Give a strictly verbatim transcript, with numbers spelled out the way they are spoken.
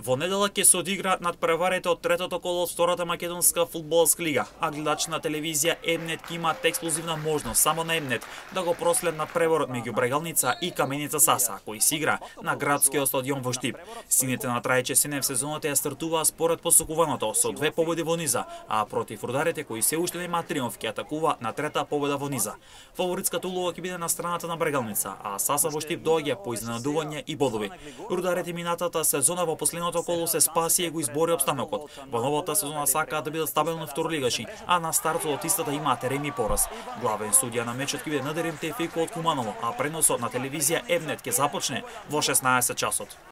Во недела ќе се одигра надпреварите од третото коло од втората македонска фудбалска лига, а гледач на телевизија Емнет ќе имаат ексклузивна можност само на Емнет да го проследат надпреворот меѓу Брегалница и Каменица Саса, кој се игра на градскиот стадион во Штип. Сините на Трајче Сенев сезоната ја стартуваа според посокуваното со две победи во низа, а против рударите кои се уште нема триумф ќе атакува на трета победа во низа. Фаворитската улога ќе биде на страната на Брегалница, а Саса во Штип доаѓа по изненадување и бодови. Рударите минатата сезона во последното коло се спаси и го избори опстанокот. Во новата сезона сакаат да бидат стабилни второлигаши, а на стартот од истата имаат реми пораз. Главен судија на мечот ќе биде Надерим Тефико од Куманово, а преносот на телевизија Емнет ќе започне во шеснаесет часот.